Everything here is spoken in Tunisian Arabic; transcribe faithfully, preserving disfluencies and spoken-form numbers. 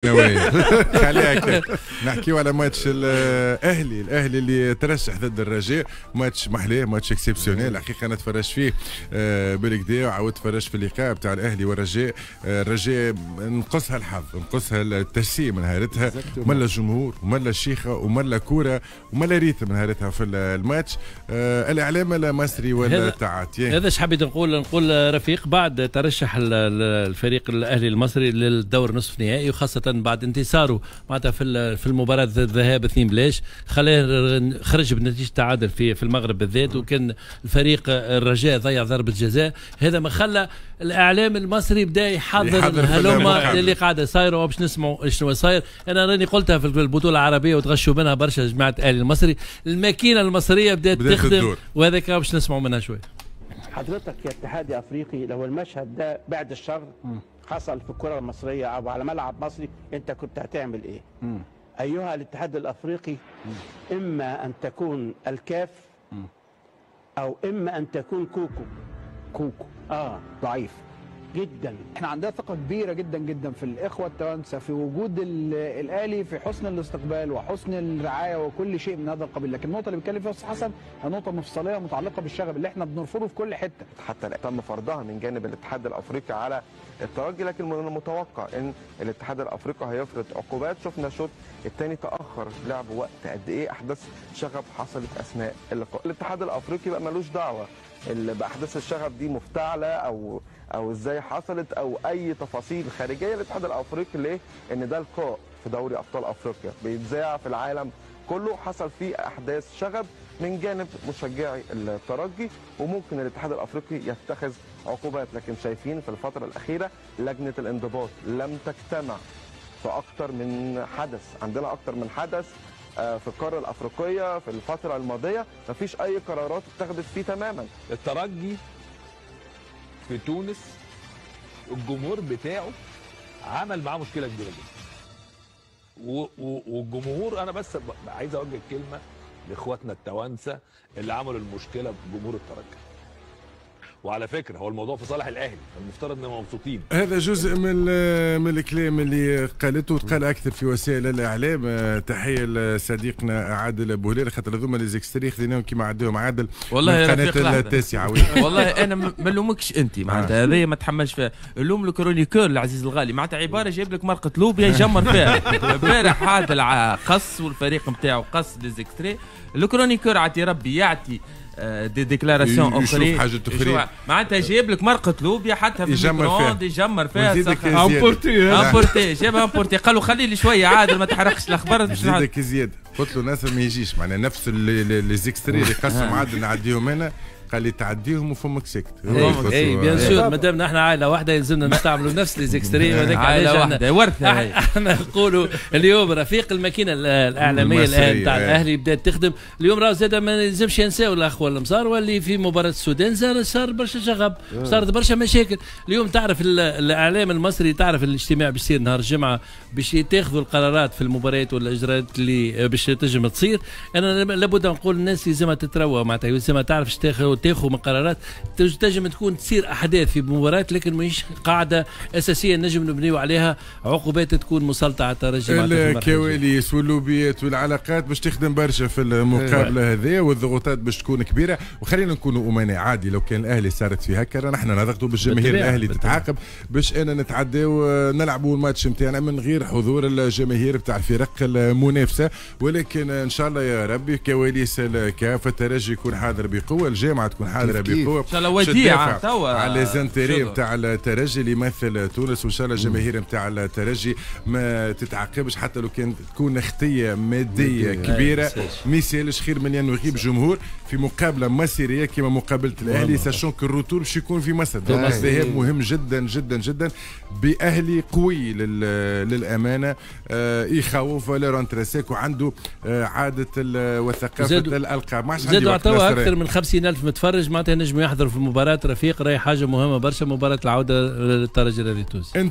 خليها نحكيو على ماتش الاهلي، الاهلي اللي ترشح ضد الرجاء، ماتش محلاه، match exceptionnel الحقيقه. انا تفرجت فيه آه، بالكدا وعاودت تفرجت في اللقاء بتاع الاهلي والرجاء. آه، الرجاء نقصها الحظ، نقصها التجسيم نهارتها، ملا الجمهور وملا الشيخه وملا كورة وملا rythme نهارتها في الماتش. آه، الاعلام لا مصري ولا تعاطي. هذا ايش حبيت نقول، نقول رفيق بعد ترشح الفريق الاهلي المصري للدور نصف نهائي، وخاصة بعد انتصاره معناتها في في المباراة الذهاب اثنين بلاش، خلاه خرج بنتيجة تعادل في في المغرب بالذات، وكان الفريق الرجاء ضيع ضربه جزاء. هذا ما خلى الاعلام المصري بدا يحضر هلوما اللي قاعدة صايرة، وباش نسمعوا شنو صاير. انا راني قلتها في البطولة العربية وتغشوا منها برشا جماعة الاهلي المصري، الماكينة المصرية بدات تخدم، وهذاك باش نسمعوا منها شوي. حضرتك يا اتحاد افريقي، لو المشهد ده بعد الشر حصل في الكره المصرية او على ملعب مصري، انت كنت هتعمل ايه؟ مم. ايها الاتحاد الافريقي، مم. اما ان تكون الكاف، مم. او اما ان تكون كوكو. كوكو اه ضعيف جدا. احنا عندنا ثقة كبيرة جدا جدا في الاخوة التوانسة، في وجود الاهلي، في حسن الاستقبال وحسن الرعاية وكل شيء من هذا القبيل. لكن النقطة اللي بيتكلم فيها استاذ حسن هي نقطة مفصلية متعلقه بالشغب اللي احنا بنرفضه في كل حتة. حتى تم فرضها من جانب الاتحاد الافريقي على الترجي، لكن من المتوقع ان الاتحاد الافريقي هيفرض عقوبات. شفنا الشوط الثاني تاخر لعب وقت قد ايه، احداث شغب حصلت اثناء اللقاء. الاتحاد الافريقي بقى ملوش دعوه باحداث الشغب دي مفتعله او او ازاي حصلت او اي تفاصيل خارجية. الاتحاد الافريقي ليه؟ ان ده لقاء في دوري ابطال افريقيا بيتذاع في العالم كله، حصل فيه احداث شغب من جانب مشجعي الترجي، وممكن الاتحاد الافريقي يتخذ عقوبات. لكن شايفين في الفترة الاخيرة لجنة الانضباط لم تجتمع في اكتر من حدث، عندنا اكتر من حدث في القارة الافريقية في الفترة الماضية مفيش اي قرارات اتخذت فيه تماما. الترجي في تونس الجمهور بتاعه عمل معاه مشكلة كبيرة جدا، والجمهور، انا بس عايز اوجه كلمة لاخواتنا التوانسة اللي عملوا المشكلة بجمهور الترجي. وعلى فكرة هو الموضوع في صالح الاهلي، المفترض انهم مبسوطين. هذا جزء من من الكلام اللي قالته وتقال اكثر في وسائل الاعلام. تحية لصديقنا عادل بوهلال، خاطر هذوما les extraits خذيناهم كيما عداهم عادل والله من قناة التاسعة. والله انا ما نلومكش انت، معناتها هذايا ما تحملش فيها، اللوم ال chroniqueur العزيز الغالي، معناتها عبارة جايب لك مرقه لوبيا يجمر فيها. البارح عادل قص والفريق نتاعو قص les extraits، ال chroniqueur عطي ربي يعطي des déclarations اخرين، حاجة اخرى، معناتها جايب لك مرقه لوبيا حتى في يجمر فيها، يجمر فيها importée importée، جابها importée، قالوا خلي لي شوية عادل ما تحرقش الاخبار. نزيدك زيادة، قلت له ناصر ما يجيش، معناها نفس les extraits اللي قسم عادل نعديهم انا، قال لي تعديهم وفمك ساكت. اي bien sûr، مادام نحن عائلة واحدة يلزمنا نستعملوا نفس les extraits، وهذاك عائلة واحدة ورثه. احنا نقولوا اليوم رفيق الماكينة الاعلامية الان تاع الاهلي بدات تخدم اليوم، راه زاد ما يلزمش ينساو الاخوة المصار واللي في مباراة السودان صار صار برشا شغب، صارت برشا مشاكل. اليوم تعرف الاعلام المصري، تعرف الاجتماع باش يصير نهار الجمعة باش يتاخذوا القرارات في المباريات والاجراءات اللي باش تنجم تصير. انا لابد نقول الناس لازمها تتروى، معناتها لازمها تعرف تاخذ تاخذ من قرارات، تنجم تكون تصير احداث في مباراة لكن ماهيش قاعدة اساسية نجم نبنيو عليها عقوبات تكون مسلطه على الترجي. الكواليس واللوبيات والعلاقات باش تخدم برشا في المقابلة هذه، والضغوطات باش تكون كبيرة. وخلينا نكونوا امناء، عادي لو كان الاهلي صارت في هكا نحن نضغطوا بالجماهير الاهلي تتعاقب باش انا نتعداو نلعبوا الماتش نتاعنا من غير حضور الجماهير بتاع الفرق المنافسة. ولكن ان شاء الله يا ربي كواليس الكاف الترجي يكون حاضر بقوة، الجامعة تكون حاضره بقوة ان شاء الله، وديعة توا على les intérêts نتاع الترجي اللي يمثل تونس، وان شاء الله الجماهير نتاع الترجي ما تتعاقبش حتى لو كان تكون خطيه مادية كبيرة، ما يسالش خير من انه يغيب جمهور في مقابله مصيرية كما مقابله الاهلي، sachant que ال retour باش يكون في مصر. الذهاب مهم جدا جدا جدا باهلي قوي للامانة، آه يخوف valeur intrinsèque وعنده آه عادة وثقافة الالقاب. ما عادش زادوا عطاوه اكثر من خمسين ألف متفرج معناتها نجموا يحضروا في المباراة. رفيق راهي حاجة مهمة برشا مباراة العودة للترجي الرياضي التونسي.